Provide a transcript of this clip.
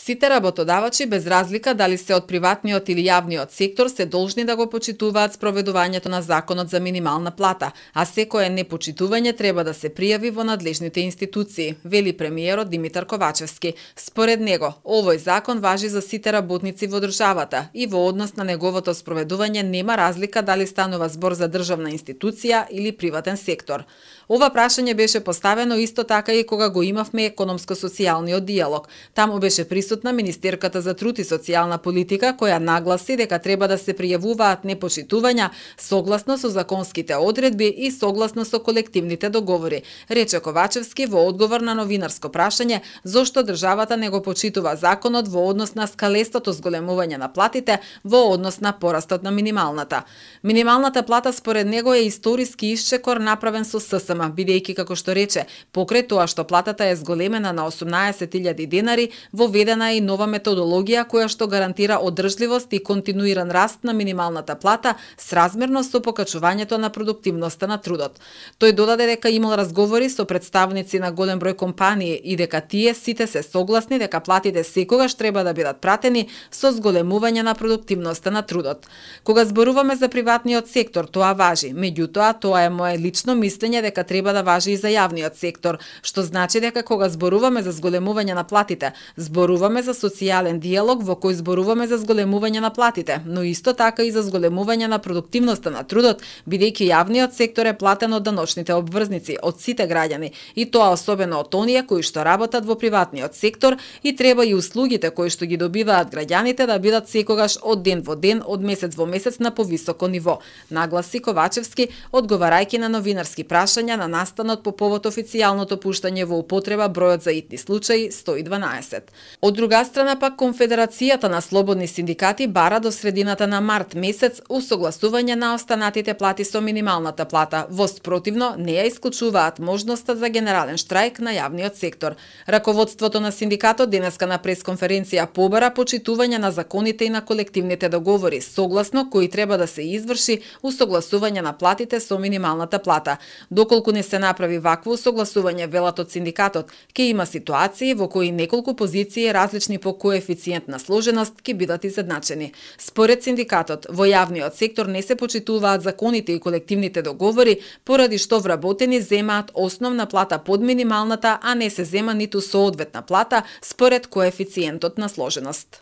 Сите работодавачи, без разлика дали се од приватниот или јавниот сектор, се должни да го почитуваат спроведувањето на законот за минимална плата, а секое непочитување треба да се пријави во надлежните институции, вели премиерот Димитар Ковачевски. Според него, овој закон важи за сите работници во државата и во однос на неговото спроведување нема разлика дали станува збор за државна институција или приватен сектор. Ова прашање беше поставено исто така и кога го имавме економско-социјалниот диалог. Таму беше присутна министерката за труд и социјална политика, која нагласи дека треба да се пријавуваат непочитувања согласно со законските одредби и согласно со колективните договори, рече Ковачевски во одговор на новинарско прашање зошто државата не го почитува законот во однос на скалестото зголемување на платите во однос на порастот на минималната. Минималната плата според него е историски исчекор направен со ССМ, бидејќи, како што рече, покрај тоа што платата е зголемена на 18.000 денари, воведена е и нова методологија која што гарантира одржливост и континуиран раст на минималната плата сразмерно со покачувањето на продуктивноста на трудот. Тој додаде дека имал разговори со представници на голем број компании и дека тие сите се согласни дека платите секогаш треба да бидат пратени со зголемување на продуктивноста на трудот. Кога зборуваме за приватниот сектор, тоа важи, меѓутоа тоа е мое лично мислење дека треба да важи и за јавниот сектор, што значи дека кога зборуваме за зголемување на платите, зборуваме за социјален диалог во кој зборуваме за зголемување на платите, но исто така и за зголемување на продуктивноста на трудот, бидејќи јавниот сектор е платен од даночните обврзници, од сите граѓани, и тоа особено од оние кои што работат во приватниот сектор, и треба и услугите кои што ги добиваат граѓаните да бидат секогаш од ден во ден, од месец во месец на повисоко ниво, нагласи Ковачевски, одговарајќи на новинарски прашања на настанот по повод официјалното пуштање во употреба бројот за итни случаи 112. Од друга страна пак Конфедерацијата на слободни синдикати бара до средината на март месец усогласување на останатите плати со минималната плата, во спротивно не ја исклучуваат можноста за генерален штрајк на јавниот сектор. Раководството на синдикатот денеска на пресконференција побара почитување на законите и на колективните договори, согласно кои треба да се изврши усогласување на платите со минималната плата. Доколку не се направи вакво усогласување, велат од синдикатот, ќе има ситуации во кои неколку позиции различни по коефициент на сложеност ќе бидат изедначени. Според синдикатот, во јавниот сектор не се почитуваат законите и колективните договори, поради што вработени земаат основна плата под минималната, а не се зема ниту соодветна плата според коефициентот на сложеност.